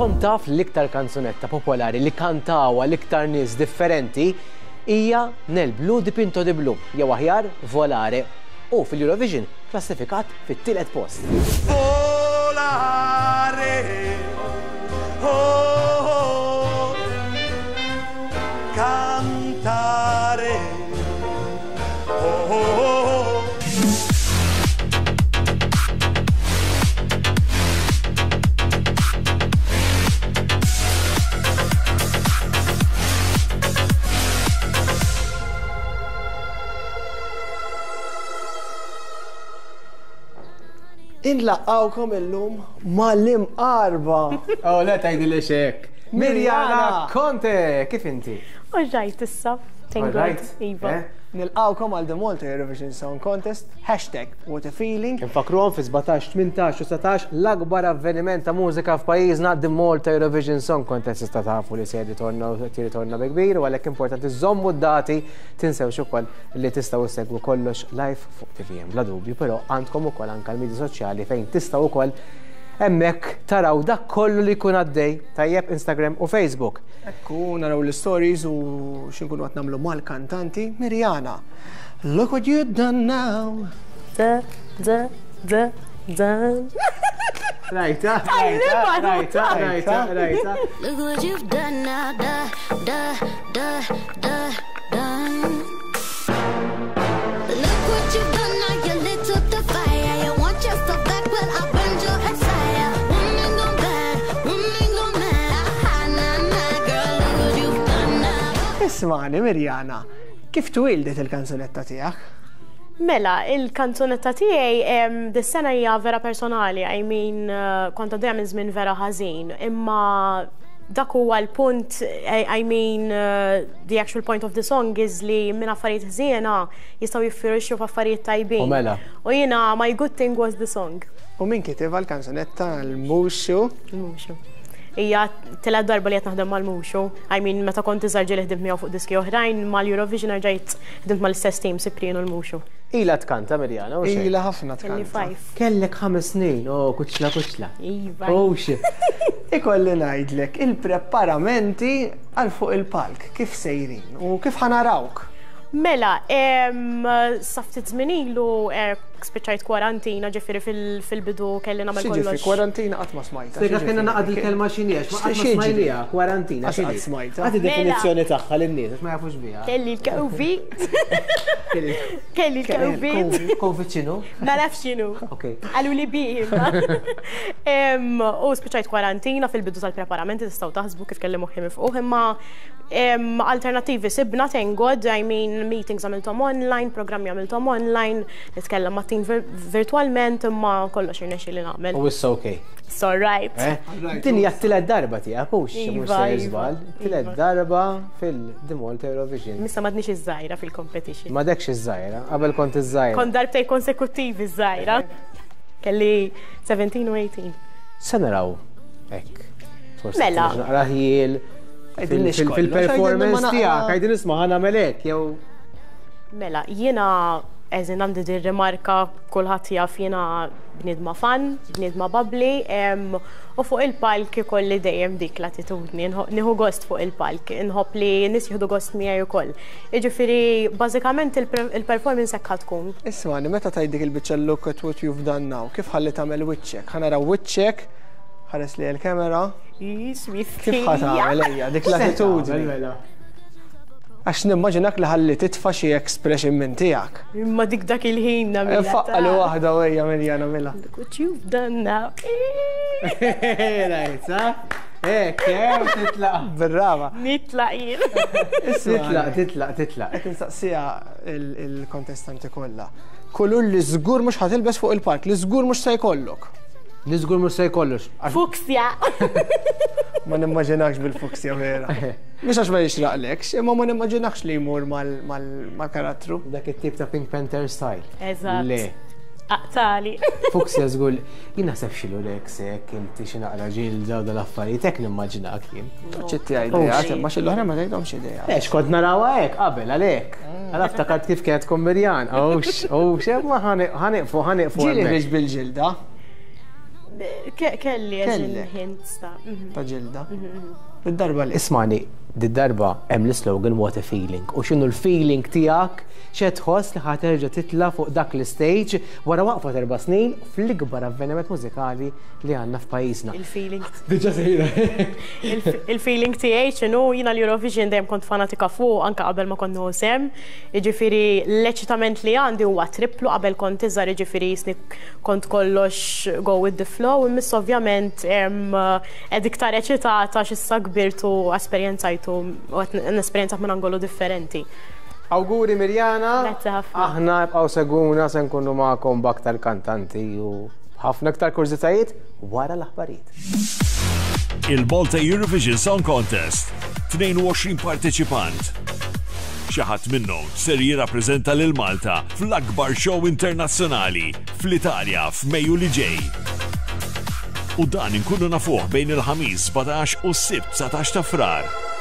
Kont taf li l-iktar kanzunetta popolari li kantawha l-iktar nies differenti hija Nel blu dipinto di blu, jew aħjar Volare, u fil-Eurovision klassifikat fit-tielet post. Volare, oh, oh, cantare, oh, oh, oh. Inlaqqawkom illum mal-imqarba. Oh, le tgħidilix hekk. Mirjana Conte, kif inti? All right issa. Thank God. Alright? Iva. Eh? Nilqawkom għal The Malta Eurovision Song Contest, hashtag what a feeling. Infakruhom fi 17, 18 u 19 l-akbar avveniment ta' mużika f'pajjiżna The Malta Eurovision Song Contest tista' tafu li se jirritorna u jirritorna bi kbir u għalhekk importanti żommu d-dati tinsewx ukoll li tistgħu ssegwu kollox live fuq TVM bla dubju, però għandkom ukoll anke l-medja soċjali fejn tistgħu ukoll hemmhekk taraw dak kollu li jkun għaddej tajjeb Instagram u Facebook. Ekku, naraw l-stories u x'inkunu qed nagħmlu mal-kantanti. Mirjana, look what you've done now. Da, da, da, done. Rajta, rajta, rajta, rajta, rajta. Look what you've done now, da, da, da, da, done. Look what you've done now, you lit up the fire. You want yourself back, well I burned your entire. Woman gone bad, woman gone mad. Ah, nah, nah, girl, look what you've done now. Ismani, Mirjana, kif twildet il-kanzunetta tiegħek? Mela, il-kanzunetta tiegħi em, dis-sena hija vera personali, I mean, eh, kont għaddejja minn żmien vera ħażin, imma dak huwa l-punt, I, I mean, uh, the actual point of the song is li minn affarijiet ħżiena jistgħu jiffirixxu f'affarijiet tajbin. U mela. U jiena my good thing was the song. U min kitibha l-kanzunetta l-Muxu? Il-Muxu. Hija tielet darba li qed naħdem mal-Muxu. I mean, meta kont iżgħar ġieli ħdimt miegħu fuq diski oħrajn, mal-Eurovision rġajt ħdimt mal-istess team, Cyprien u l-Muxu. Ila tkanta Mirjana, u xejn? Ila ħafna Kelli tkanta. five. Kellek ħames snin, oh, kuċla kuċla. Iva. Oh, shit. Ikolli ngħidlek il-preparamenti għal fuq il-palk, kif sejrin u kif ħa narawk. Mela, em, sa ftit żmien ilu eh, spiċċajt kwarantina, ġifieri fil- fil-bidu kelli nagħmel X'jiġifieri kollox. kwarantina qatt ma smajta. Spjega kena naqad il-kelma x'inhi, għax ma qatt ma X'jiġri? smajniha, kwarantina. Għax x'inhi? qatt smajtha. Agħti Mela. definizzjoni tagħha lin-nies, għax ma jafux biha. Kelli l-Covid. Kelli l-Covid. Covid x'inhu? Ma nafx x'inhu. Ok. Qalu li bi imma. Em, U spiċċajt kwarantina fil-bidu tal-preparamenti tistgħu taħsbu kif kelli moħħi mifquh imma em, alternattivi sibna thank God, I mean meetings għamilthom online, programmi għamilthom online, nitkellem ma' team vir- virtualment imma kollox irnexxieli nagħmel. U issa ok. It's all right. Eh? Din hija t-tielet darba tiegħek hux mhux Iva, se iva, żball. Tielet iva. darba fil-The Malta Eurovision. Issa m'għadniex iż-żgħira fil-competition. Ma dekx iż-żgħira, qabel kont iż-żgħira. Kont darbtej konsekuttivi żgħira. Kelli 17 u 18. Se naraw hekk. Forsi Mela. tkunx naqra ħjiel Għidilniex fil- kollox, fil-performance għidilna ma naqra. tiegħek, għajdin isma' ħa nagħmel hekk jew Mela, jiena eżin għandi din rimarka kulħadd jaf jiena bniedma fun, bniedma bubbly, em, u fuq il-palk ikolli dejjem dik l-attitudni, nħo- nieħu gost fuq il-palk, nħobb li nies jieħdu gost miegħi ukoll. Jiġifieri bażikament il-pre- il-performance hekk ħa tkun. Ismani, meta tgħid dik il-biċċa look at what you've done now, kif ħalli tagħmel wiċċek? Ħa naraw wiċċek, ħares li l-kamera, kif ħa tagħmel ejja dik l-attitudni. Mela. Għax nimmaġinak li ħalli titfa' xi expression minn tiegħek. Imma dik dak il-ħin nagħmilha. Faqqa li waħda u ejja Mirjana mela. Look what you've done now. Rajt, sa? Hekk, eh, titlaq. Bil-raba. Nitlaq jien. Titlaq, titlaq, titlaq. Qed insaqsiha il-kontestanti kollha. Kulur li żgur mhux ħa tilbes fuq il-palk, li żgur mhux se jkollok. Li żgur mhux se jkollux. Għax Fuksja. Ma nimmaġinakx bil-fuksja vera. Mhux għax ma jixraqlekx, imma ma nimmaġinakx li jmur mal-karattru. Dak it-tip ta' Pink Panther style. Eżatt. Le. Aqtali. Fuksja żgur. Jien naħseb xilu lek sek, inti xi naqra ġilda u dal-affarijiet hekk nimmaġinak jien. Ċitti idea, imma xi l-oħra ma tgħidhomx idea. Ex, kont narawha hekk qabel għalhekk. Għala ftakart kif kienet tkun Mirjan. Owx, owx, ma ħaniqfu, ħaniqfu. Ġieli hemmhekk. ħriġ bil-ġilda. Kelli hints ta' mhm. ta' ġilda. Mhm, mhm. Id-darba li. Ismani, Did-darba hemm l-islogan What a Feeling u x'inhu l-feeling tiegħek x'qed tħoss li ħa terġa' titla' fuq dak l-istage wara waqfa t'erba' snin fl-ikbar avveniment mużikali li għandna f'pajjiżna. Il-feeling. Diġà sejra. Il-feeling tiegħi x'inhu jiena l-Eurovision dejjem kont fanatika fuq anke qabel ma kont nieħu sehem. Jiġifieri l-eċitament li għandi huwa triplu qabel kont iżgħar jiġifieri jisni kont kollox go with the flow imma issa ovvjament Qed iktar eċitata għax issa kbirt u esperjenzajtu u qed nesperjenzah minn angolu differenti. Awguri Mirjana. Grazzi ħafna. Aħna ibqgħu segwuna se nkunu magħkom b'aktar kantanti u ħafna iktar kurżitajiet wara l-aħbarijiet. Il-Malta Eurovision Song Contest, 22 parteċipant. Xi ħadd minnhom ser jirrappreżenta lil Malta fl-akbar show internazzjonali fl-Italja f'Mejju li ġej. U dan inkunu nafuh bejn il-Ħamis 17 u s-Sibt 19 ta' Frar.